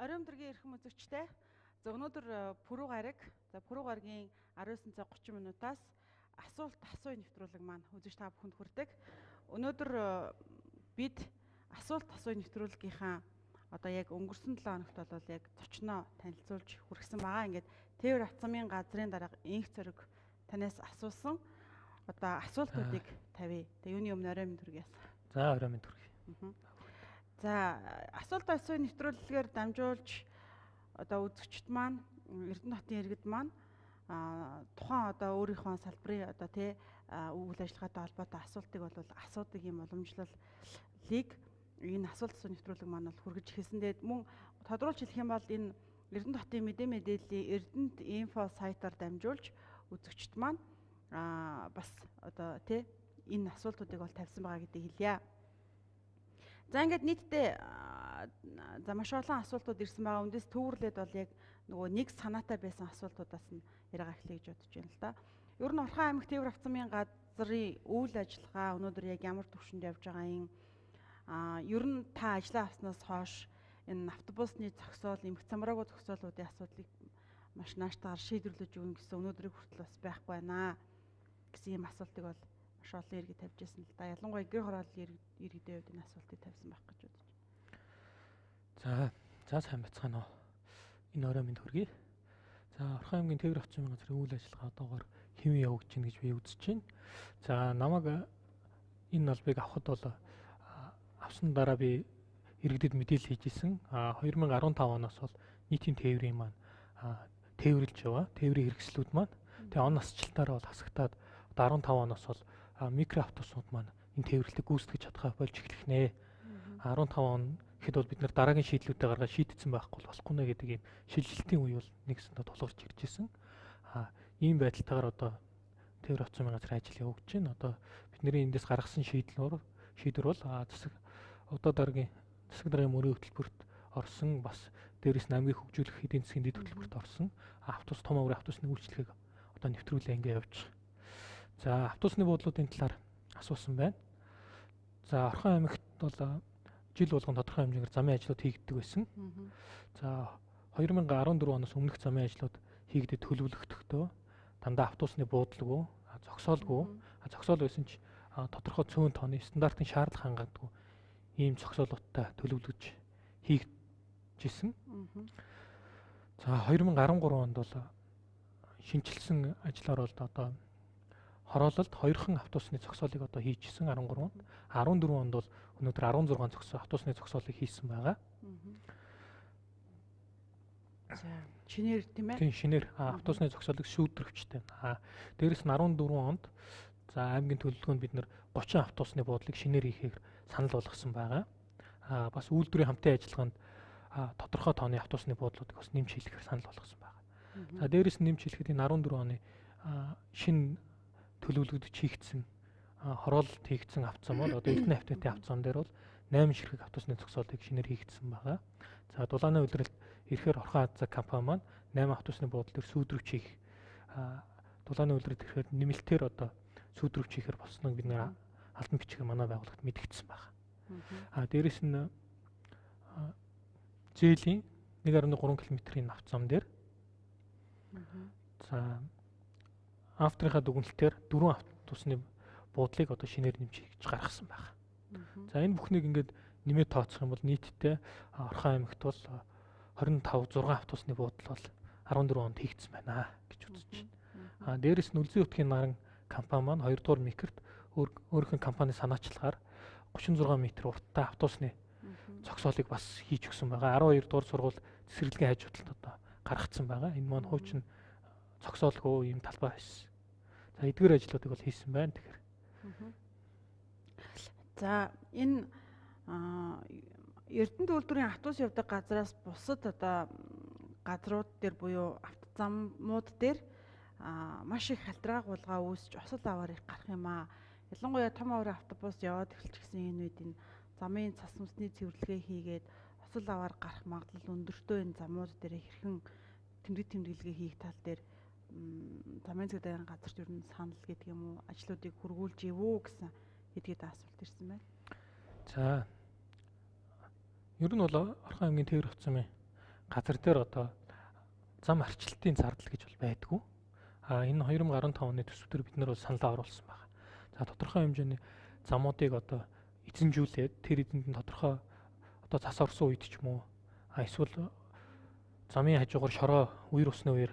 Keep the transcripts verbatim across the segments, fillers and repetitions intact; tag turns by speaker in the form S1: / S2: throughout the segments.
S1: Оройн өдрийн эрхэм үзэгчтэй. За өнөөдөр Пүрэв гараг. За Пүрэв гарагийн араас нь цаг гучин минутаас асуулт асууя нэвтрүүлэг маань үзэж та бүхэнд хүрдэг. Өнөөдөр бид асуулт асууя нэвтрүүлгийнхаа одоо яг өнгөрсөн долоо хоногт бол яг зочноо танилцуулж хүргэсэн байгаа. Ингээд Тээвэр Авцамын газрын дарга инх цориг танаас асуусан одоо асуултуудыг тавья. Тэгээ юуны өмнө оройн мэнд хүргье.
S2: За оройн мэнд хүргье.
S1: За асуулт асууя нэвтрүүлгээр дамжуулж одоо үзэгчд маань Эрдэнэтийн иргэд маань тухайн одоо өөрийнхөө салбарын одоо тий үйл ажиллагаатай холбоотой асуултыг бол асуудаг юм уламжлалыг энэ асуулт асууя нэвтрүүлэг маань бол хүргэж хэлсэн. Тэгээд мөн тодруулж хэлэх юм бол энэ Эрдэнэтийн мэдээ мэдээллийн Эрдэнэт инфо сайтаар дамжуулж үзэгчд маань бас одоо тий энэ асуултуудыг бол тавьсан байгаа гэдгийг хэлье. За ингээд нийтдээ за маш олон асуултууд ирсэн байгаа. Үндээс төвөрлөд бол яг нөгөө нэг санаатай байсан асуултуудаас нь яриагаа эхлэе гэж бодож байна л да. Ер нь Орхон аймаг Тээвэр Авцамын газрын үйл ажиллагаа өнөөдөр яг ямар төвшөнд явж байгаа юм? Аа ер нь та ажиллаа авснаас хойш энэ автобусны зогсоол, эмх цамраагүй зогсоолуудын асуудлыг маш нааштайгаар шийдвэрлэж өгнө гэсэн өнөөдрийг хүртэл бас байхгүй байна гэсэн юм асуултыг бол маш олон иргэд тавьж байсан л да. Ялангуяа гэр хорооллын иргэдийн хувьд энэ асуултыг тавьсан байх гэж бодож байна.
S2: За, за сайн бацгаана уу. Энэ оройн мэнд хүргэе. За, Орхон аймгийн Тээвэр Авцамын газрын үйл ажиллагаа одоогоор хэвэн явагдаж байна гэж би үзэж байна. За, намайг энэ албыг авахд бол авсан дараа би иргэдэд мэдээлэл хийж исэн. А хоёр мянга арван тав оноос бол нийтийн тээврийн маань тээвэрлж яваа. Тээврийн хэрэгслүүд маань тэгээ он насжилтаараа бол хасагтаад арван тав оноос бол микро автобусууд маань энэ тээвэрлэлийг гүйцэтгэж чадхаа болж эхлэх нэ. арван тав он гэхэд бол бид нар дараагийн шийдлүүдээ гаргаад шийдсэн байхгүй болохгүй нэ гэдэг ийм шилжилтийн үе бол нэгсэндээ тулгарч ирж ирсэн. А ийм байдалтайгаар одоо Тээвэр Авцамын газрын ажил явагдаж байна. Одоо бидний эндээс гаргасан шийдлээр шийдвэр бол засаг одоо дараагийн засаг даргын мөрийн хөтөлбөрт орсон, бас дээрээс нь аймгийг хөгжүүлэх эдийн засгийн дэд хөтөлбөрт орсон. Автобус том аврын автобусны үйлчлэгийг одоо нэвтрүүлээ ингээ явж байгаа. За автобусны буудлуудын талаар асуусан байна. За Орхон аймагт бол жил болгон тодорхой хэмжээгээр замын ажлууд хийгддэг байсан. За хоёр мянга арван дөрөв оноос өмнөх замын ажлууд хийгдэд төлөвлөгдөхдөө дандаа автобусны буудлгүй, зогсоолгүй, зогсоол байсан ч тодорхой цөөн тооны стандартын шаардлага хангадаггүй ийм зогсоолуудтай төлөвлөж хийгдэжсэн. За хоёр мянга арван гурав онд бол шинжилсэн ажлаар бол одоо хороололд хоёрхан автобусны зогсоолыг одоо хийжсэн арван гурав онд. арван дөрөв онд бол өнөөдөр арван зургаан зогсоо автобусны зогсоолыг хийсэн байгаа.
S1: За шинээр тийм ээ.
S2: Тийм шинээр автобусны зогсоолыг шүүдрэгчтэй. Аа дээрэс нь арван дөрөв онд за аймгийн төлөвлөгөөнд бид нэр гучин автобусны буудлыг шинээр хийхээр санал болгосон байгаа. Аа бас үйлдвэрийн хамтын ажиллагаанд тодорхой тооны автобусны буудлуудыг бас нэмж хийхээр санал болгосон байгаа. За дээрэс нь нэмж хийхэд энэ арван дөрөв оны шинэ төлөвлөгдөж хийгдсэн хороололт хийгдсэн авцам бол одоо Эрдэнэ автомобилийн авцам дээр бол найман ширхэг автобусны зогсоолыг шинээр хийгдсэн байгаа. За дулааны улиралд ирэхээр Орхон Азаа компани маань найман автобусны буудлын дээр сүйдрүүч хийх дулааны улиралд ирэхээр нэмэлтээр одоо сүйдрүүч хийхээр болсныг бид нэр албан бичгээр манай байгууллагт мэдгдсэн байгаа. А дээрэс нь зээлийн нэг гаруй гурван километрийн авцам дээр за авторынхаа дүгнэлтээр дөрвөн автобусны буудлыг одоо шинээр нэмж хийж гаргасан байна. За энэ бүхнийг ингээд нэмээд тооцох юм бол нийтдээ Орхон аймагт бол хорин тав зургаан автобусны буудал бол арван дөрөв онд хийгдсэн байна гэж үзэж байна. А дээрэс нь Үлзий утгийн наран компани маань хоёр дугаар микрт өөрийнхөө компани санаачлагаар гучин зургаан метр урттай автобусны зогсоолыг бас хийж өгсөн байгаа. арван хоёр дугаар сургууль цэцэрлэгийн хажуудалд одоо гаргацсан байгаа. Энэ маань хуучин зогсоолгүй юм талбай байсан. За эдгээр ажлуудыг бол хийсэн байна тэгэхээр.
S1: За энэ Эрдэнэт үйлдвэрийн автобус явдаг газраас бусад одоо газрууд дээр буюу автозамууд дээр маш их халдвараа гулгаа үүсч осол аваар их гарах юм аа. Ялангуяа том аваар автобус яваад эхэлчихсэн энэ үед энэ замын цас мөсний цэвэрлэгээ хийгээд осол аваар гарах магадлал өндөртөө энэ замууд дээр хэрхэн тэмдэг тэмдэглэгээ хийх тал дээр замын цэгдэн газарт ер нь санал гэдэг юм уу ажлуудыг хургуулж ивүү гэсэн хэдгээд асуулт ирсэн байна.
S2: За ер нь бол Орхон аймгийн Тээвэр Авцамын газар дээр одоо зам арчилтын зардал гэж бол байдгүй. А энэ two thousand fifteen оны төсвөр бид нар бол саналаа оруулсан байна. За тодорхой хэмжээний замуудыг одоо эзэмжүүлээд тэр эзэнд нь тодорхой одоо цас орсон үед ч юм уу а эсвэл замын хажуугаар шороо үер усны үер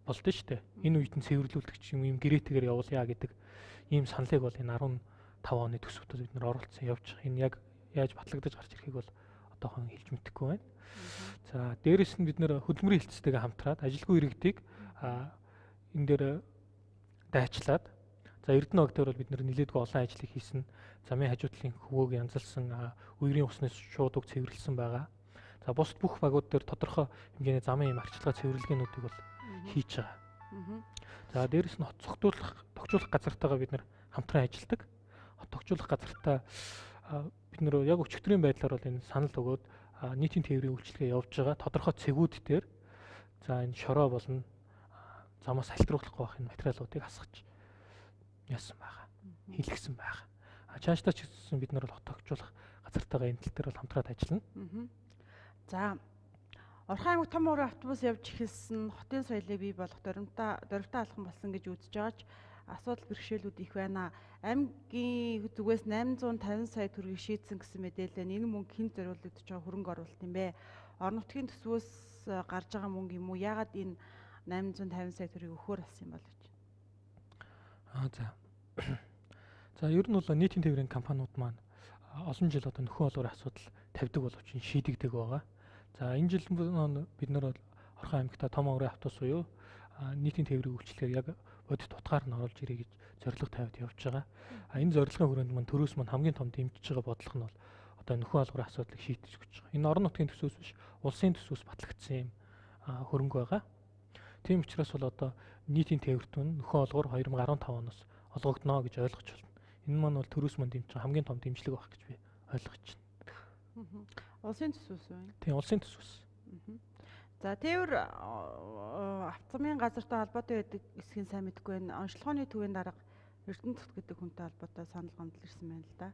S2: болдсон шүү дээ. Энэ үед нь цэвэрлүүлдэг ч юм гэрээтэйгээр явуулъя гэдэг ийм саналыг бол энэ five оны төсөвтөд бид нар оруулсан явж байгаа. Энэ яг яаж батлагдаж гарч ирэхийг бол одоохон хэлж мэдэхгүй байна. За дээрэс нь бид нэр хөдөлмөрийн хэлтстэйгээ хамтраад ажилгүй иргэдийг энэ дээр дайчлаад за Эрдэнэ ог дээр бол бид нэр нэлээдгүй олон ажлыг хийсэн. Замын хажуудлын хөвөөг янзалсан, үерийн усны шууд уг цэвэрлсэн байгаа. За бусд бүх багууд дээр тодорхой хэмжээний замын юм арчилгаа цэвэрлэгээнүүдийг бол хийж байгаа. За дээрэс нь хот цогтуулах, тогтжуулах газартаагаа бид нэр хамтран ажилладаг. Хот тогтжуулах газартаа бид нэр яг өчигдрийн байдлаар бол энэ санал өгөөд нийтийн тээврийн үйлчилгээ явж байгаа. Тодорхой цэгүүд дээр за энэ шороо болон замаас салбируулахгүй байх энэ материалуудыг асгаж яасан байгаа. Хийлгсэн байгаа. А чаашдаа ч гэсэн бид нар бол хот тогтжуулах газартаагаа энэ тал дээр бол хамтраад ажиллана.
S1: За Орхон аймаг том уурын автобус явж эхэлсэн хотын соёлыг бий болгох дөрвөлтэй дөрвөлтэй алхам болсон гэж үзэж байгаач асуудал бэрхшээлүүд их байна. Аймгийн зүгээс eight hundred fifty сая төгрөгийг шийдсэн гэсэн мэдээлэл энэ мөнгө хэн зориулагдаж байгаа хөрөнгө оруулалт юм бэ? Орон нутгийн төсвөөс гарч байгаа мөнгө юм уу? Яагаад энэ eight hundred fifty сая төгрөгийг өгөхөр болсон юм бол гэж?
S2: Аа за. За ер нь бол нийтийн тээврийн компаниуд маань олон жил одоо нөхөн олгорын асуудал тавьдаг боловч шийдэгдэг байгаа. За энэ жил бид нар бол Орхон аймагта том уурын автобус буюу нийтийн тээврийн үйлчилгээ яг бодит утгаар нь оруулж ирэй гэж зорилго тавиад явж байгаа. А энэ зорилгын хүрээнд мань төрөөс мань хамгийн том дэмжиж байгаа бодлого нь бол одоо нөхөн олгорын асуудлыг шийдэж өгч байгаа. Энэ орон нутгийн төсвөөс биш, улсын төсвөөс батлагдсан юм хөрөнгө байгаа. Тийм учраас бол одоо нийтийн тээвэрт нь нөхөн олгор two thousand fifteen оноос олгогдно гэж ойлгож байна. Энэ маань бол төрөөс мань дэмжиж байгаа хамгийн том дэмжлэг байх гэж би ойлгож байна.
S1: Улсын төсвөөс үү?
S2: Тийм, улсын төсвөөс.
S1: За тээвэр автомын газартай холбоотой байдаг эсхийн сайн мэдгүй байна. Онцлогооны төвийн дарга Эрдэнэ цот гэдэг хүнтэй холбоотой санал гомдол ирсэн байна л да.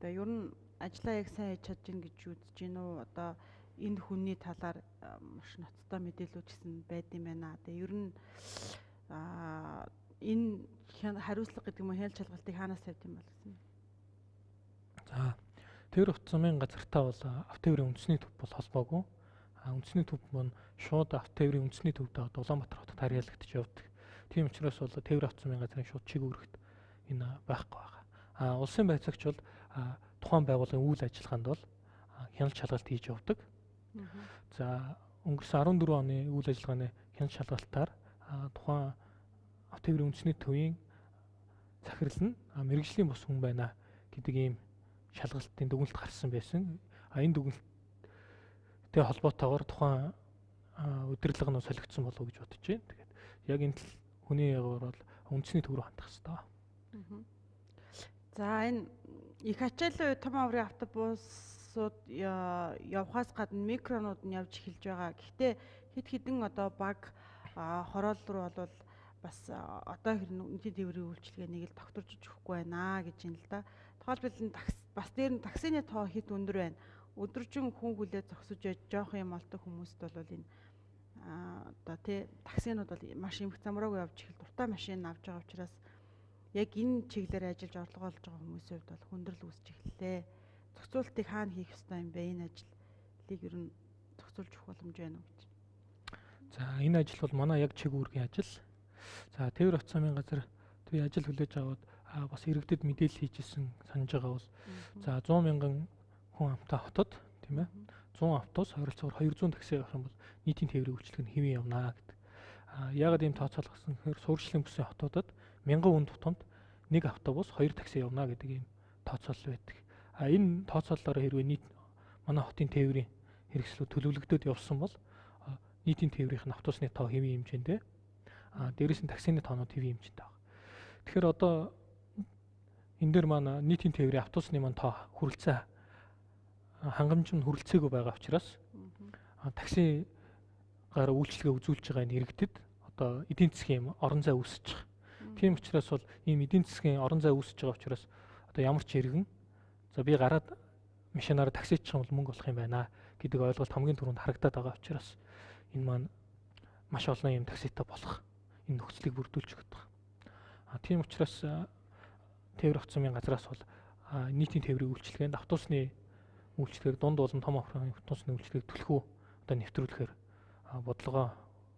S1: Тэгээ ер нь ажлаа яг сайн хийж чадж гин гэж үзэж гин үү? Одоо энэ хүний талаар маш ноцтой мэдээлүүд гэсэн байд юм байна. Тэгээ ер нь аа энэ хариуцлага гэдэг юм уу хяналт шалгалтыг хаанаас тавьд юм бол гэсэн.
S2: За тээвэр автомын газартаа бол автотээврийн үндэсний төв бол холбоогүй. Үндэсний төв маань шууд автотээврийн үндэсний төвдөө Улаанбаатар хотод харьяалагдаж явдаг. Тийм учраас бол тээвэр автомын газрын шууд чиг үүрэгт энэ байхгүй байгаа. А улсын байцаагч бол тухайн байгууллагын үйл ажиллагаанд бол хяналт шалгалт хийж явдаг. За өнгөрсөн fourteen оны үйл ажиллагааны хяналт шалгалтаар тухайн автотээврийн үндэсний төвийн захирал нь мэрэгжлийн бус хүн байна гэдэг ийм шалгалтын дүгнэлт гарсан байсан. А энэ дүгнэлттэй холбоотойгоор тухайн удирдлага нь солигдсон болов уу гэж бодож байна. Тэгээд яг энэ хүний ягуур бол үндэсний төв рүү хандах хэрэгтэй.
S1: За энэ их ачааллын том аврын автобусууд явхаас гадна микронууд нь явж эхэлж байгаа. Гэхдээ хэд хэдэн одоо баг хороол руу бол бас одоо хэрнээ тээврийн үйлчилгээнийг л тогтворж өгөхгүй байна гэж юм л да. Тухайлбал бас дээр нь таксины тоо хэд өндөр байна. Өдөржин хүн хүлээ зогсож яж жоох юм олдог хүмүүст бол энэ одоо тий таксинууд бол маш их замраагүй явж ихэл дуртай машин авч байгаа учраас яг энэ чиглэлээр ажиллаж орлого олж байгаа хүмүүсийн хувьд бол хүндрэл үүсэж эхэллээ. Зохицуултыг хаана хийх ёстой юм бэ? Энэ ажлыг ер нь зохицуулж өгөх боломж байна уу гэж.
S2: За энэ ажил бол манай яг чиг үүргийн ажил. За тээвэр автомын газар төв ажил хүлээж аваад бас иргэдэд мэдээлэл хийжсэн санаж байгаа бол за one hundred мянган хүн амтай хотод тийм ээ one hundred автобус ойролцоогоор two hundred такси авах юм бол нийтийн тээврийн үйлчилгээ нь хэвэн явнаа гэдэг. А яагаад ийм тооцоолох гэсэн хэрэг суурьшлийн бүсийн хотуудад мянган хүн тутамд нэг автобус хоёр такси явна гэдэг ийм тооцоолол байдаг. А энэ тооцооллоор хэрвээ нийт манай хотын тээврийн хэрэгслүүд төлөвлөгдөд явсан бол нийтийн тээврийн автобусны тоо хэвэн хэмжээндээ а дээрээс нь таксины тоонууд хэвэн хэмжээтэй байна. Тэгэхээр одоо энэ дээр маань нийтийн тээврийн автобусны маань тоо хүрэлцээ хангамж нь хүрэлцээгүй байгаа учраас таксигаар үйлчилгээ үзүүлж байгаа энэ иргэдэд одоо эдийн засгийн орон зай үүсэж байгаа. Тийм учраас бол ийм эдийн засгийн орон зай үүсэж байгаа учраас одоо ямар ч иргэн за би гараад машинаараа таксичих юм бол мөнгө олох юм байна гэдэг ойлголт хамгийн түрүүнд харагдаад байгаа учраас энэ маань маш олон юм такситай болох энэ нөхцөлийг бүрдүүлж өгöd байна. А тийм учраас тээвэр авцмын газраас бол нийтийн тээврийн үйлчилгээнд автобусны үйлчлэгээр дунд болон том автобусны үйлчлэгийг түлхүү одоо нэвтрүүлэхээр бодлогоо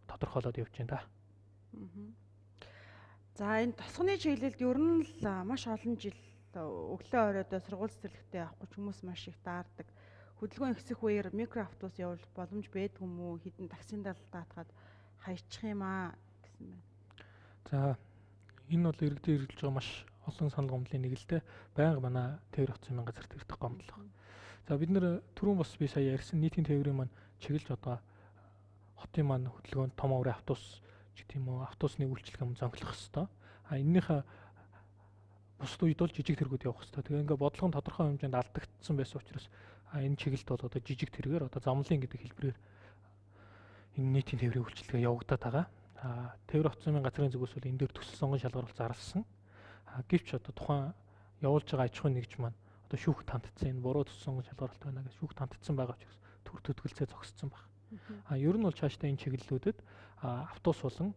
S2: тодорхойлоод явж байна да.
S1: За энэ тосгоны чиглэлд ер нь л маш олон жил өглөө оройдоо сургууль цэцэрлэгтээ авахгүй хүмүүс маш их даардаг. Хөдөлгөөн ихсэх үеэр микроавтобус явуулах боломж байдг юм уу? Хэдэн таксинд даатгаад хаячих юм аа гэсэн байна.
S2: За энэ бол иргэдийн хэрэгжилж байгаа маш олон санал гомдлын нэг л дээ. Байнга манай тээвэр авцмын газарт ирдэг гомдлого. За бид нэр түрүүн бас би сая ярьсан нийтийн тээврийн маань чиглэж одоо хотын маань хөдөлгөөнд том аврын автобус гэх юм уу автобусны үйлчлэг юм зонхлох хэвээр. А энэнийхээ бусад үед бол жижиг тэргүүд явах хэвээр. Тэгээ ингээ бодлого нь тодорхой хэмжээнд алдагдсан байсан учраас энэ чиглэлд бол одоо жижиг тэргээр одоо замлын гэдэг хэлбэрээр энэ нийтийн тээврийн үйлчлэгээ явагдаад байгаа. А тээвэр авцмын газрын зүгээс бол энэ дээр төсөл сонгон шалгаруулалт зарласан. А гэвч одоо тухайн явуулж байгаа аж ахуйн нэгж маань одоо шүүх тантцсан энэ буруу төсөл сонгон шалгаруулалт байна гэж шүүх тантцсан байгаа учраас төр төтгөлцөө зогсцсон баг. А ер нь бол цаашдаа энэ чиглэлүүдэд автобус болон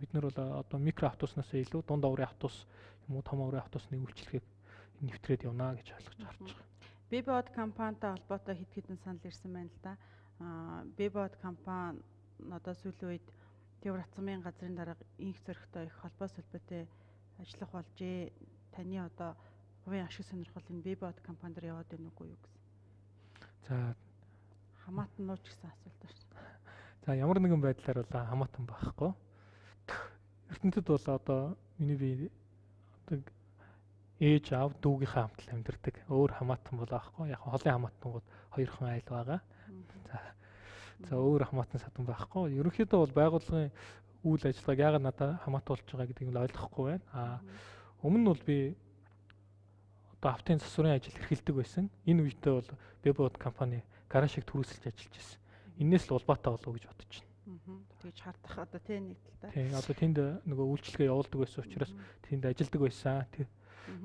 S2: бид нар бол одоо микро автобуснаас илүү дунд аврын автобус юм уу том аврын автобусны үйлчлэгийг нэвтрээд явна гэж ойлгож харж байгаа.
S1: Бибод компанитай холбоотой хэд хэдэн санал ирсэн байна л да. Аа Бибод компани одоо сүүлийн үед тээвэр авцмын газрын дарга инх зөрөгтэй их холбоо солбоотой ажиллах болжээ. Таны одоо хувийн ашиг сонирхол энэ Бибод компани дээр яваад байна уу юу гэсэн.
S2: За
S1: хамаатан нууч гэсэн асуулт байна.
S2: За ямар нэгэн байдлаар бол хамаатан байхгүй. ертөнцид бол одоо миний би одоо ээж аав дүүгийнхээ хамт л амьдардаг. Өөр хамаатан бол байхгүй. Яг холын хамаатангууд хоёрхан айл байгаа. За за өөр хамаатан садан байхгүй. Ерөнхийдөө бол байгууллагын үйл ажиллагааг яагаад надад хамаатуулж байгаа гэдгийг нь ойлгохгүй байна. Аа өмнө нь бол би одоо автын засварын ажил эрхэлдэг байсан. Энэ үедээ бол Бибод компани гаражийг түрүүсэлж ажиллаж байсан. Иннээс л улбаатай болов гэж бодож байна.
S1: Тэгж хардах одоо тийм нэг талтай.
S2: Тийм одоо тэнд нөгөө үйлчлэгээ явуулдаг байсан учраас тэнд ажилдаг байсан. Тэр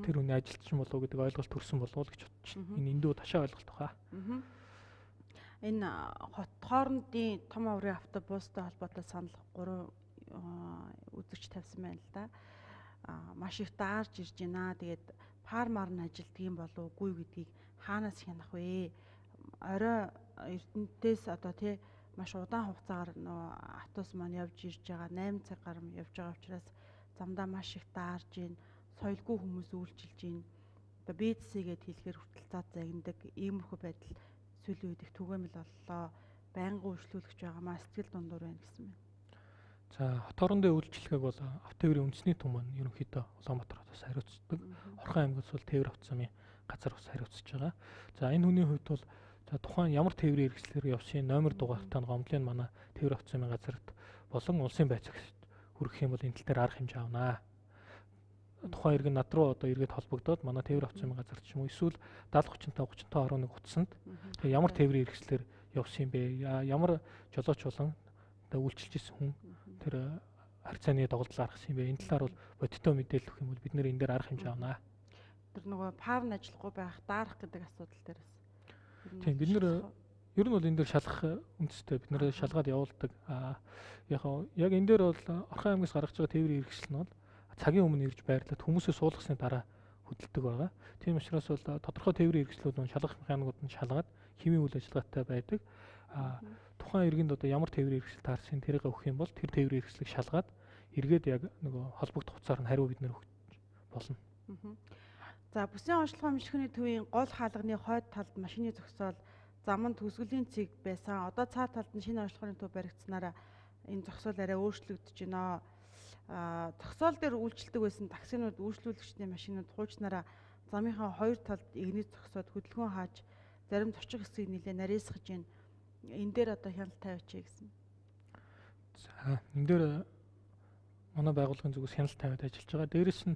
S2: тэр хүний ажилтсан болов гэдэг ойлголт төрсэн болов уу гэж бодож байна. Энэ эндүү ташаа ойлголт баха.
S1: Энэ хот хоорондын том аврын автобустай холбоотой санал гурван үзэгч тавьсан байна л да. Маш их даарж ирж байна. Тэгээд фармаар нь ажилтдаг юм болов уугүй гэдгийг хаанаас хянах вэ? Орой Эрдэнэтээс одоо тий маш удаан хугацаагаар нөө автобус маань явж ирж байгаа найман цаг гаруй явж байгаа учраас замдаа маш их даарж ийн соёлгүй хүмүүс үйлчилж ийн одоо бизнесгээд хэлэхээр хүртэл зад загнадаг иймэрхүү байдал сүүлийн үед их түгээмэл боллоо байнгын үйлчлүүлэгч байгаамаа сэтгэл дундуур байна гэсэн байна.
S2: За хот хоорондын үйлчлэгээг бол автотээврийн үндэсний түн маань ерөнхийдөө Улаанбаатар хотоос хариуцдаг. Орхон аймагт бол тээвэр авцмын газар бас хариуцж байгаа. За энэ хүний хувьд бол за тухайн ямар тээврийн хэрэгслээр явсан номер дугаартай гомдлын манай тээвэр авцмын газарт болон улсын байцаагт хүргэх юм бол энэ тал дээр арга хэмжээ авнаа. Тухайн иргэн над руу одоо эргээд холбогдоод манай тээвэр авцмын газарт ч юм уу эсвэл даатгалын тридцать тридцать хараа нэг утсанд тэгээ ямар тээврийн хэрэгслээр явсан юм бэ? Ямар жолооч болон одоо үйлчилж ирсэн хүн тэр харьцааны доголдол аргасан юм бэ? Энэ талаар бол бодиттой мэдээлэл өгөх юм бол бид нэр энэ дээр арга хэмжээ авнаа.
S1: Тэр нөгөө парн ажиллахгүй байх, даарах гэдэг асуудал дээр бас.
S2: Тийм бид нэр ер нь бол энэ дээр шалгах үндэстэй бид нэр шалгаад явуулдаг. Аа яг яг энэ дээр бол Орхон аймагаас гаргаж байгаа тээврийн хэрэгсэл нь бол цагийн өмнө ирж байрлаад хүмүүсээ суулгасны дараа хөдөлдөг байгаа. Тийм учраас бол тодорхой тээврийн хэрэгслүүд нь шалгах механикууд нь шалгаад хэмжээ үйл ажиллагаатай байдаг. Аа тухайн иргэнд одоо ямар тээврийн хэрэгсэл таарсан тэрийг өгөх юм бол тэр тээврийн хэрэгслийг шалгаад эргээд яг нөгөө холбогдох хугацаар нь хариу бид нэр өгч болно.
S1: За бүсийн онцлогоо мэргэжлийн төвийн гол хаалганы хойд талд машины зогсоол заманд төсгөлийн цэг байсан. Одоо цаад талд нь шинэ онцлогооны төв баригдсанараа энэ зогсоол арай өөрчлөгдөж байна. А зогсоол дээр үйлчилдэг байсан таксинууд үйлчлүүлэгчдийн машинууд хуучнараа замынхаа хоёр талд игнэт зогсоод хөдөлгөөн хааж зарим зорчих хэсгийг нэлээ нарийсгаж байна. Энэ дээр одоо хяналт тавиач гэсэн.
S2: За энэ дээр манай байгууллагын зүгээс хяналт тавиад ажиллаж байгаа. Дээрээс нь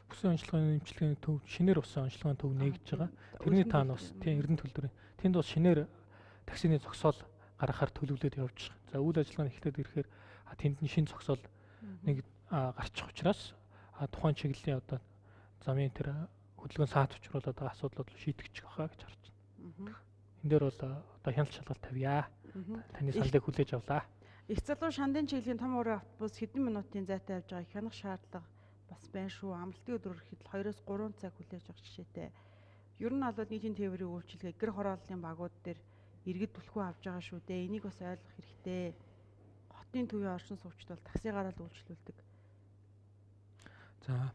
S2: бүсийн онцлогооны нэмчилгээний төв шинээр усан онцлогооны төв нэгдэж байгаа. Тэрний таан бас тийм Эрдэнэ төлбөрийн тэнд бас шинээр таксины зогсоол гаргахаар төлөвлөд явж байгаа. За үйл ажиллагаа нь эхлээд ирэхээр тэнд нь шинэ зогсоол нэг гарчих учраас тухайн чиглэлийн одоо замын тэр хөдөлгөөн саат учруулаад байгаа асуудлууд шийдэгдэж байгаа гэж харж байна. энэ дээр бол одоо хяналт шалгалт тавья. Таны сандыг хүлээж авлаа.
S1: Их залуу шандын чиглэлийн том уурын автобус хэдэн минутын зайтай явж байгааг хянах шаардлага бас байна шүү. Амралтын өдрөөр ихэд хоёроос гурван цаг хүлээж авах жишээтэй. Ер нь бол нийтийн тээврийн үйлчилгээ гэр хорооллын багууд дээр иргэд түлхүү авж байгаа шүү дээ. Энийг бас ойлгох хэрэгтэй. Хотын төвийн орчин суугчид бол таксигаар л үйлчлүүлдэг.
S2: За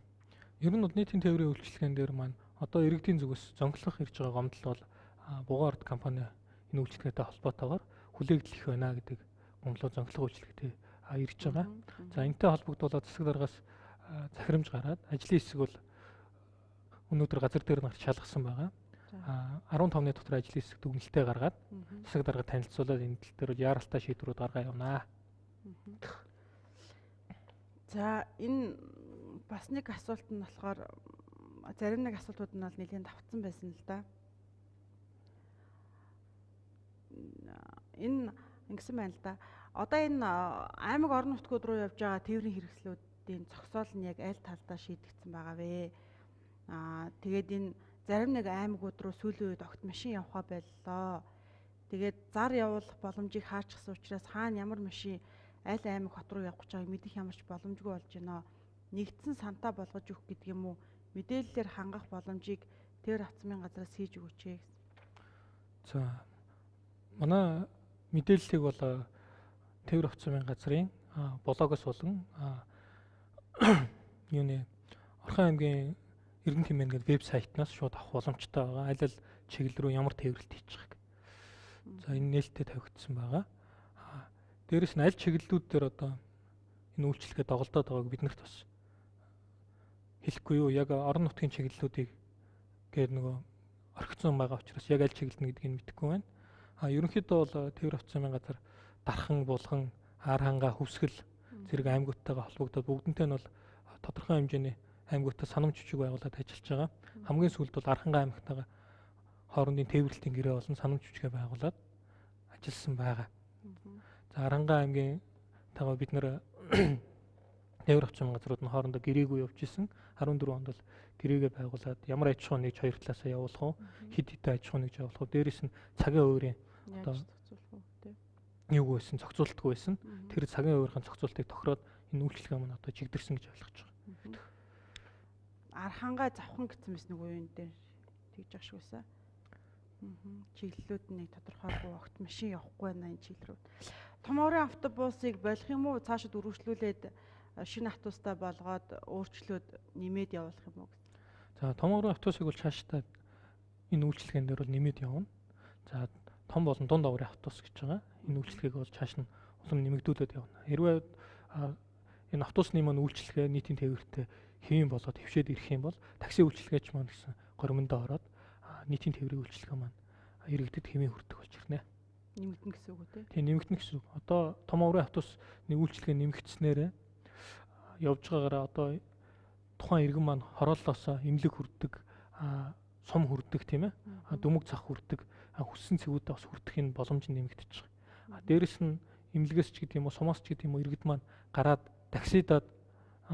S2: ер нь бол нийтийн тээврийн үйлчилгээнд дээр маань одоо иргэдийн зүгээс зонглох ирж байгаа гомдол бол Бугаан ард компани энэ үйлчилгээтэй холбоотойгоор хүлээгдэх байна гэдэг гомдлоо зонглох үйлчилгээтэй ирж байгаа. За энэтэй холбогдуулаад засаг даргаас захирамж гараад ажлын хэсэг бол өнөөдөр газар дээр нарт шалгасан байгаа. арван тавны дотор ажлын хэсэг дүгнэлтээ гаргаад засаг дарга танилцуулаад энэ тал дээр бол яаралтай шийдвэрүүд гаргаа явнаа.
S1: За энэ бас нэг асуулт нь болохоор зарим нэг асуултууд нь бол нэлээд давтсан байсан л да. Энэ ингэсэн байна л да. Одоо энэ аймаг орон нутгууд руу явж байгаа тээврийн хэрэгслүүдийн зогсоол нь яг аль талдаа шийдэгдсэн байгаа вэ? Аа тэгээд энэ зарим нэг аймагуд руу сүүлийн үед огт машин явахаа боллоо. Тэгээд зар явуулах боломжийг хаачихсан учраас хаана ямар машин аль аймаг хот руу явах гэж байгааг мэдэх ямарч боломжгүй болж байна. Нэгдсэн сантаа болгож өгөх гэдэг юм уу? Мэдээллээр хангах боломжийг тээвэр авцмын газраас хийж өгөөч ээ гэсэн.
S2: За манай мэдээллийг бол тээвэр авцмын газрын блогоос болон юуны Орхон аймгийн Эрдэнэ хэмээн гэдэг вебсайтнаас шууд авах боломжтой байгаа. Аль аль чиглэл рүү ямар тээвэрлэлт хийчих гэх. За энэ нээлттэй тавигдсан байгаа. Дээрээс нь аль чиглэлүүд дээр одоо энэ үйлчлэгээ доголдоод байгааг биднэрт бас хэлэхгүй юу? Яг орон нутгийн чиглэлүүдийг гээд нөгөө орхицсон байгаа учраас яг аль чиглэл нь гэдгийг мэдэхгүй байна. А ерөнхийдөө бол тээвэр авцмын газар Дархан, Булган, Ар хангаа, Хөвсгөл зэрэг аймагуудтайгаа холбогдоод бүгднтэй нь бол тодорхой хэмжээний аймагуудтай санамж жүжиг байгуулад ажиллаж байгаа. Хамгийн сүүлд бол Ар хангаа аймагтайгаа хоорондын тээвэрлэлтийн гэрээ болон санамж жүжигээ байгуулад ажилласан байгаа. За Ар хангаа аймгийн тагаа бид нэр тээвэр авцмын газрууд нь хоорондоо гэрээгүй явж исэн. арван дөрвөн онд бол гэрээгээ байгуулад ямар аж ахуй нэгж хоёр талаасаа явуулах уу, хэд хэдэн аж ахуй нэгж явуулах уу, дээрээс нь цагийн хувийн одоо юу байсан, зохицуултгүй байсан. Тэр цагийн хувийн зохицуултыг тохироод энэ үйлчлэгээ маань одоо чигдэрсэн гэж ойлгож байгаа.
S1: Ар хангаа завхан гэсэн мэс нэг үеийн дээр тэгж ах шиг байсан. Чиглэлүүд нь нэг тодорхойгүй огт машин явахгүй байна энэ чиглэл рүү. Том уурын автобусыг болох юм уу? Цаашид үргэлжлүүлээд шинэ автобустай болгоод өөрчлөөд нэмээд явуулах юм уу гэсэн.
S2: За том уурын автобусыг бол цаашдаа энэ үйлчлэгээн дээр бол нэмээд явна. За том болон дунд уурын автобус гэж байгаа. Энэ үйлчлэгийг бол цааш нь улам нэмэгдүүлээд явна. Хэрвээ энэ автобусны маань үйлчлэгээ нийтийн тээвэртэй хэвэн болоод хөвшөөд ирэх юм бол такси үйлчлэгээч маань гэсэн горимондоо ороод нийтийн тээврийн үйлчлэгээ маань иргэдэд хэвэн хүрдэг болж ирнэ.
S1: Нэмэгдэн гэсэн үг үү те?
S2: Тийм нэмэгдэн гэсэн үг. Одоо том уурын автобусны үйлчлэгээ нэмэгдснээр явж байгаагаараа одоо тухайн иргэн маань хорооллоосоо эмнэлэг хүрдэг, сум хүрдэг тийм ээ. Дүмэг цах хүрдэг, хүссэн цэгүүдээ бас хүрдэхийн боломж нэмэгдэж байгаа. Дээрэс нь эмнэлгээс ч гэдэг юм уу, сумаас ч гэдэг юм уу иргэд маань гараад таксидаад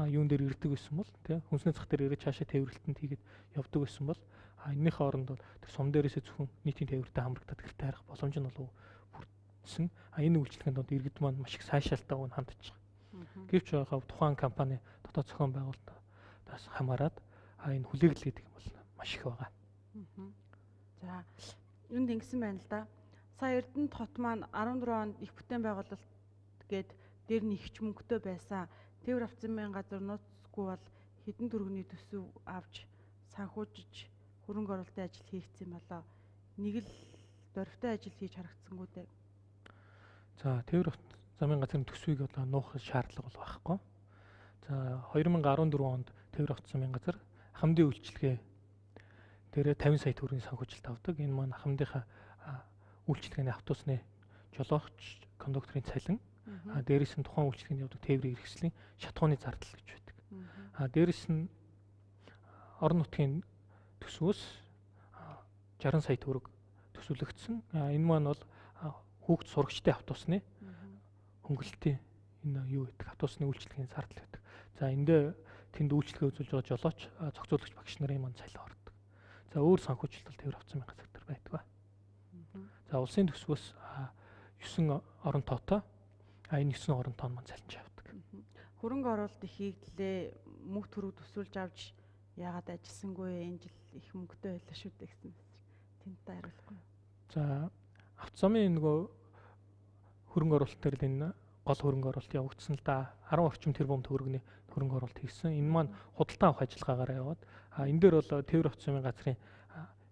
S2: юун дээр ирдэг байсан бол тий хүнсний цах дээр ирээд цаашаа тээвэрлэлтэнд хийгээд явдаг байсан бол энэний хооронд бол тэр сум дээрээсээ зөвхөн нийтийн тээвэртэй хамрагдаад гэртээ харах боломж нь бол бүрдсэн. А энэ үйлчлэгэнд бол иргэд маань маш их сайшаалтайг хандж байгаа. Гэвч байгаа тухайн компани дотоод зохион байгуулалтаас хамаарат энэ хүлээглэл гэдэг юм бол маш их байгаа.
S1: За юунд ингэсэн байна л да. Сая Эрдэнэт хот маань арван дөрвөн онд их бүтээн байгуулалт гээд дээр нь ихч мөнгөтэй байсан. Тээвэр авцмын газар нууцгүй бол хэдэн төгрөгийн төсөв авч санхүүжиж хөрөнгө оруулалтын ажил хийгдсэн болоо. Нэг л дөрвтэй ажил хийж харагдсангүй дээ.
S2: За тээвэр замын газрын төсвийг одоо нуух шаардлага бол байхгүй. За хоёр мянга арван дөрвөн онд тээвэр авцмын газар хамдын үйлчлэгээ дээрээ тавин сая төгрөгийн санхүүжилт авдаг. Энэ маань хамдынхаа үйлчлэгээний автобусны жолоогч, кондукторын цалин, а дээрээс нь тухайн үйлчлэгэнд явдаг тээврийн хэрэгслийн шатхууны зардал гэж байдаг. А дээрээс нь орон нутгийн төсвөөс жарган сая төгрөг төсвөлөгдсөн. А энэ маань бол хүүхд сурагчдын автобусны хөнгөлөлтийн энэ юу гэдэг автобусны үйлчлэгийн зардал байдаг. За эндээ тэнд үйлчлэгээ үзүүлж байгаа жолооч, зохицуулагч багш нарын маань цалин ордог. За өөр санхүүжилт бол тээвэр авцмын газар дээр байдаг ба. За улсын төсвөөс9 орон тоотой а энэ9 орон тоо маань цалинж явдаг.
S1: Хөрөнгө оруулалт их хийглээ, мөнгө төрөг төсвөлж авч яагаад ажилласангүй энэ жил их мөнгөтэй байлаа шүү дээ гэсэн. Тэнтэй хариулахгүй.
S2: За автозамын нөгөө хөрөнгө оруулалт дээр л энэ гол хөрөнгө оруулалт явагдсан л да. арван орчим тэрбум төгрөгийн хөрөнгө оруулалт хийсэн. Энэ маань худалдаа авах ажиллагаагаар яваад а энэ дээр бол Тээвэр автозамын газрын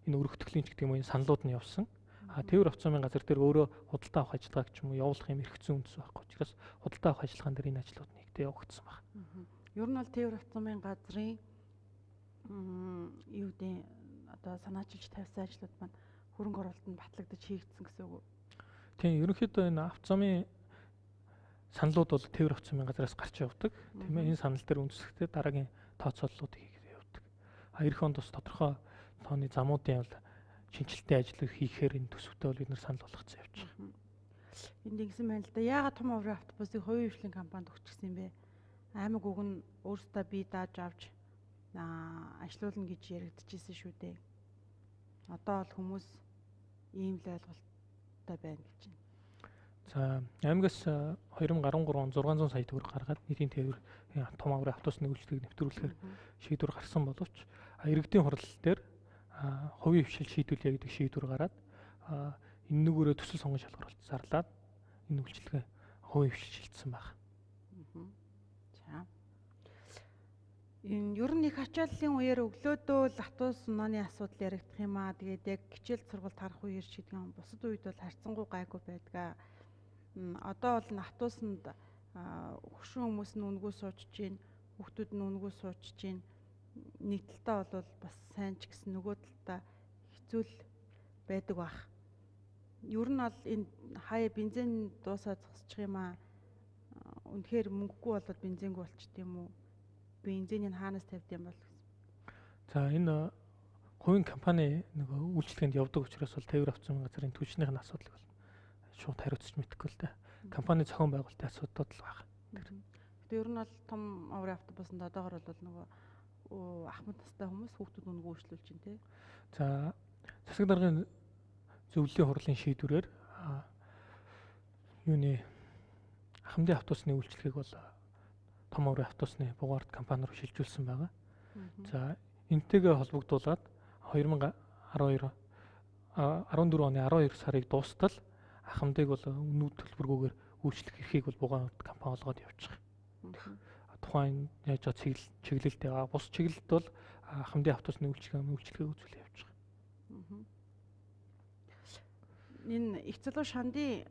S2: энэ өргөтгөлийн ч гэдэг юм уу саналууд нь явсан. А Тээвэр автозамын газар дээр өөрөө худалдаа авах ажиллагааг ч юм уу явуулах юм эрх зүйн үндэс байхгүй учраас худалдаа авах ажиллагаан дээр энэ ажлууд нэгдээ явагдсан байна.
S1: Ер нь бол Тээвэр автозамын газрын юу гэдэг одоо санаачилж тавьсан ажлууд маань хөрөнгө оруулалт нь батлагдаж хийгдсэн гэсэн үг үү?
S2: Тийм, ерөнхийдөө энэ автозамын саналууд бол Тээвэр автозамын газраас гарч явдаг. Тийм ээ, энэ санал дээр үндэслэхдээ дараагийн тооцооллууд хийгээд явдаг. А эх онд бас тодорхой тооны замуудын бол шинжилтийн ажил хийхээр энэ төсөвтэй бол бид нар санал болгоцсон явж байгаа.
S1: Энд ингэсэн байна л да. Яагаад том аврын автобусыг хувийн хвшлийн компанид өгчихсэн юм бэ? Аймаг уг нь өөрсдөө бие дааж авч ажилуулна гэж яригдчихсэн шүү дээ. Одоо бол хүмүүс ийм л ойлголттой байна гэж байна.
S2: За аймагаас две тысячи десять он зургаан зуун сая төгрөг гаргаад нийтийн тээвэр том аврын автобусны үйлчлэгийг нэвтрүүлэхээр шийдвэр гарсан боловч иргэдийн хурал дээр хувийн хвшил шийдвэрлэе гэдэг шийдвэр гараад энэ нүгээрээ төсөл сонгон шалгаруулалт зарлаад энэ үйлчлэгээ хувийн хвшил шилжсэн байна.
S1: За. Энэ ер нь их ачааллын үеэр өглөөдөө л автобус унааны асуудал яригдах юм аа. Тэгээд яг хичээл сургалт харах үеэр ч гэдэг юм. Бусад үед бол харьцангуй гайгүй байдаг. Одоо бол автобусанд хөшүүн хүмүүс нь үнгүү сууж чинь, хүүхдүүд нь үнгүү сууж чинь. Нэг талтаа бол бас сайн ч гэсэн нөгөө талтаа хэцүү л байдаг бах. Ер нь бол энэ хаяа бензин дуусаад зогсчих юм аа. Үнэхээр мөнгөгүй болоод бензингүй болчт юм уу? Бензинийг хаанаас тавьд юм бол гэсэн.
S2: За энэ хувийн компани нөгөө үйлчлэгэнд явдаг учраас бол Тээвэр автозамын газрын түвшнийх нь асуудал бол шууд хариуцж мэдэхгүй л дээ. Компани зохион байгуулалтын асуудал л байна.
S1: Гэтэ ер нь бол том аврын автобусанд одоогор бол нөгөө ахмад настай хүмүүс хүүхдүүд үнгүү үйлчлүүлж чинь тий.
S2: За засаг даргын зөвлөлийн хурлын шийдвэрээр юуны хамдын автобусны үйлчлэгийг бол том аврын автобусны бугаард компани руу шилжүүлсэн байгаа. За энтэйгээ холбогдуулаад две тысячи десять он оны twelve сарыг дуустал ахмадыг бол өнөө төлбөргүйгээр үйлчлэх эрхийг бол бугаан компани олгоод явж байгаа. Тухайн яаж чиглэл чиглэлтэй байгаа. Бус чиглэлд бол хамдын автобусны үйлчлэгээ үйлчлэгээ үзүүл явж байгаа.
S1: Энэ их залуу шандын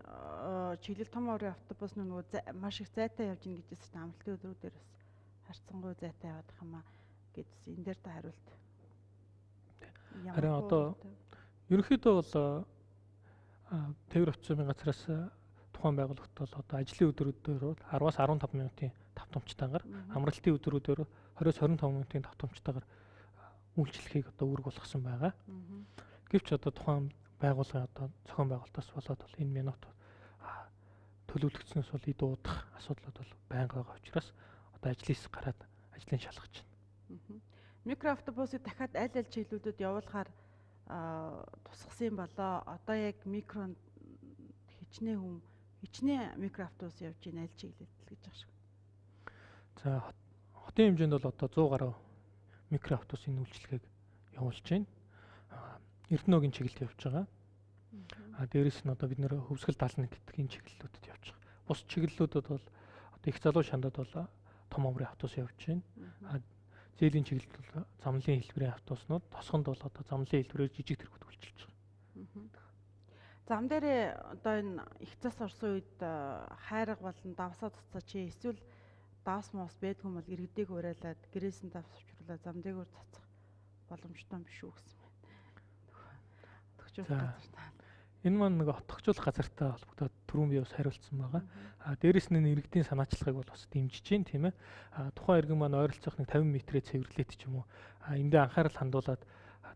S1: чиглэл том аврын автобусны нөгөө маш их зайтай явж ийн гэжсэн чинь амралтын өдрүүдээр бас харьцангуй зайтай яваад байгаа юм аа гэдсэн. Энэ дээр та хариулт.
S2: Харин одоо ерөнхийдөө бол Тээвэр автозамын газраас тухайн байгууллагт бол одоо ажлын өдрүүдээр ten-аас fifteen минутын давтамжтайгаар амралтын өдрүүдээр twenty-аас twenty-five минутын давтамжтайгаар үйлчлэхийг одоо үүрэг болгосон байгаа. Гэвч одоо тухайн байгууллагын одоо зохион байгуулалтаас болоод бол энэ минут төлөвлөгдснөөс бол идүү удах асуудлууд бол байнга байгаа учраас одоо ажлаас гараад ажлын шалгаж байна.
S1: Микроавтобусыг дахиад аль аль чиглэлүүдэд явуулахаар тусгасан болоо. Одоо яг микронд хичнээн хүм хичнээн микроавтобус явж ийн аль чиглэлд л гэж байгаа шиг.
S2: За хотын хэмжээнд бол одоо one hundred гаруй микроавтобусын үйлчлэгийг явуулж байна. Эрдэнэгийн чиглэлд явж байгаа. А дээрэс нь одоо бид нэр Хөвсгөл даална гэдэг энэ чиглэлүүдэд явж байгаа. Бус чиглэлүүдэд бол одоо их залуу шандад бол том аврын автобус явж байна. А зээлийн чиглэлд бол замлын хэлбэрийн автобуснууд, тосгонд бол одоо замлын хэлбэрээр жижиг тэргүүд үйлчилж байгаа.
S1: Зам дээр одоо энэ их цас орсон үед хайрга болон давсаа туцаа чи эсвэл давс мос байдгүй бол иргэдэг уриалаад гэрээсэн давс авчруулаад зам дээгүүр цацах боломжтой биш үү гэсэн байна.
S2: Энэ маань нэг отгочуулах газартай холбогдоод түрүүн би бас хариулсан байгаа. А дээрэс нь иргэдийн санаачлагыг бол бас дэмжиж байна тийм ээ. А тухайн иргэн маань ойролцоох нэг fifty метрээ цэвэрлээд ч юм уу. А эндээ анхаарал хандуулаад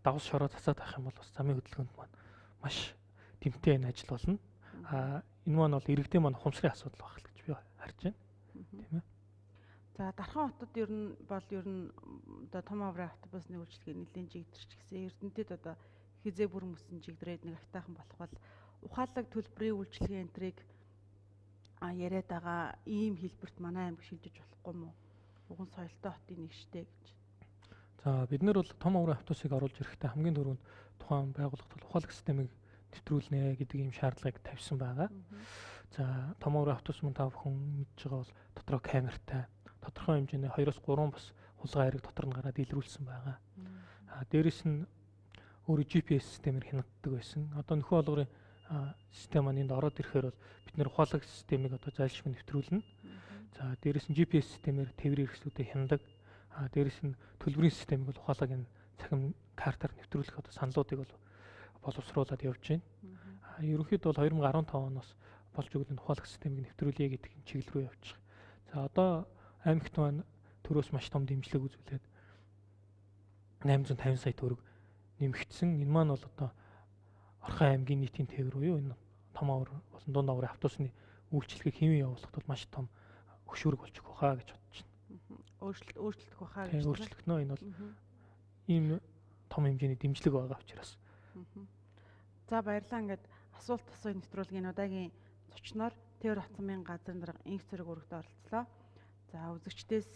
S2: давс шороо цацаад авах юм бол бас замын хөдөлгөөнд маань маш тэмтэй энэ ажил болно. А энэ маань бол иргэдийн маань ухамсарын асуудал байх л гэж би харж байна. Тийм ээ.
S1: За Дархан хотод ер нь бол ер нь одоо том аврын автобусны үйлчлэгээ нэлээд жигдэрч гисэн. Эрдэнэтэд одоо хизээ бүр мөсөн жигдрээд нэг автайхан болох бол ухаалаг төлбөрийн үйлчилгээ энтрийг яриад байгаа ийм хэлбэрт манай аймаг шилжиж болохгүй мó? Уган соёлтой хотын нэг штэ гэж.
S2: За бид нэр бол том аврын автобусыг оруулж ирэхдээ хамгийн түрүүнд тухайн байгууллагад ухаалаг системийг нэвтрүүлнэ гэдэг ийм шаардлагыг тавьсан байгаа. За том аврын автобус мөн та бүхэн мэдж байгаа бол дотроо камертай, тодорхой хэмжээний хоёроос гурван бас хулгай хайрыг дотор нь гараад илрүүлсэн байгаа. А дээрэс нь өөрө джи пи эс системээр хянагддаг байсан. Одоо нөхөн олгорын систем маань энд ороод ирэхээр бол бид нэр ухаалаг системийг одоо зайлшгүй нэвтрүүлнэ. За дээрэс нь джи пи эс системээр тээврийн хэрэгслүүдэд хяндаг. А дээрэс нь төлбөрийн системийг бол ухаалаг энэ цахим картаар нэвтрүүлэх одоо саналуудыг бол боловсруулад явж байна. А ерөнхийдөө бол две тысячи ф оноос болж өгөх ухаалаг системийг нэвтрүүлье гэдэг чиглэл рүү явж байгаа. За одоо аймагт маань төрөөс маш том дэмжлэг үзүүлээд eight hundred fifty сая төгрөг нэмэгдсэн. Энэ маань бол одоо Орхон аймгийн нийтийн тээвэр буюу энэ том авар болон дунд аврын автобусны үйлчлэгийг хэвэн явуулахад бол маш том хөшүүрэг болж өгөх хаа гэж бодож байна.
S1: Өөрчлөлт өөрчлөлтөх баха гэж.
S2: Өөрчлөгдөнө. Энэ бол ийм том хэмжээний дэмжлэг байгаа учраас.
S1: За баярлалаа. Ингээд асуулт асууя нэвтрүүлгийн удаагийн зочноор Тээвэр хацмын газрын дарга инх зэрэг өргөдө оролцлоо. За үзэгчдээс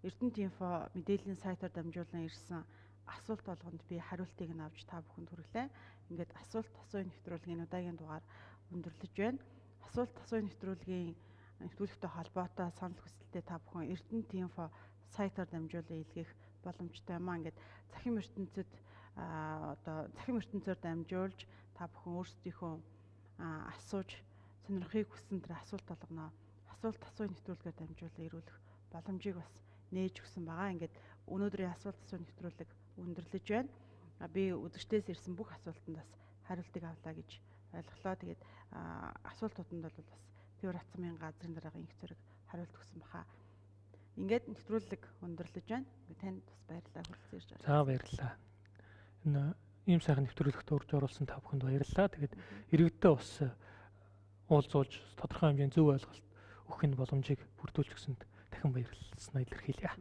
S1: Эрдэнэт-инфо мэдээллийн сайтаар дамжуулан ирсэн асуулт болгонд би хариултыг нь авч та бүхэнд хүргэлээ. Ингээд асуулт асууя нэвтрүүлгийн удаагийн дугаар өндөрлөж байна. Асуулт асууя нэвтрүүлгийн нэвтрүүлэгтэй холбоотой санал хүсэлтээ та бүхэн Эрдэнэт-инфо сайтаар дамжуулан илгээх боломжтой юм аа. Ингээд цахим ертөнцид одоо цахим ертөнцөөр дамжуулж та бүхэн өөрсдийнхөө асууж сонирхохыг хүссэн тэр асуулт болгоно асуулт асууя нэвтрүүлгээр дамжуулан ирүүлэх боломжийг бас нээж өгсөн байгаа. Ингээд өнөөдрийн асуулт асууя нэвтрүүлэг өндөрлөж байна. Би үзэгчдээс ирсэн бүх асуултанд бас хариултыг авлаа гэж ойлголоо. Тэгээд асуултууданд бол бас Тээвэр хацмын газрын дарга инх зэрэг хариулт өгсөн баха. Ингээд нэвтрүүлэг өндөрлөж байна. Танд бас баярлалаа хүрэлцэн ирж байна.
S2: За баярлалаа. Энэ ийм сайхан нэвтрүүлэгт урьж оруулсан та бүхэнд баярлалаа. Тэгээд иргэддээ бас уулзуулж тодорхой хэмжээний зөв ойлголт өгөх боломжийг бүрдүүлж өгсөнд дахин баярлалаа илэрхийлье.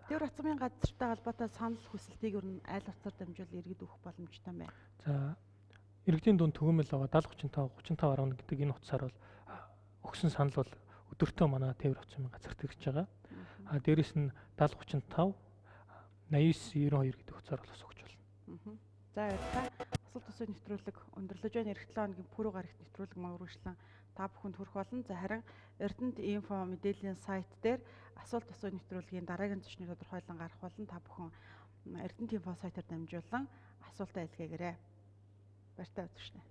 S1: Тээвэр хацмын газартай холбоотой санал хүсэлтийг ер нь айл утсаар дамжуул иргэд өгөх боломжтой юм байна.
S2: За иргэдийн дунд төгөөмөл байгаа seventy thirty-five thirty-five eleven гэдэг энэ утсаар бол өгсөн санал бол өдөртөө манай Тээвэр хацмын газарт ирж байгаа. А дээрэс нь seventy thirty-five ninety-nine ninety-two гэдэг утсаар бол бас өгч болно.
S1: За баярлалаа. Асуулт асууя нэвтрүүлэг өндөрлөж байна. Эх seven хоногийн пүрэв гарагт нэвтрүүлэг мөрөглөн та бүхэнд хүрэх болно. За харин Эрдэнэт-инфо мэдээллийн сайт дээр асуулт асууя нэвтрүүлгийн дараагийн зочныг тодорхойлон гарах болон та бүхэн Эрдэнэт-инфо сайтаар дамжуулан асуултаа илгээгээрэй. Баяртай үзэгчдээ.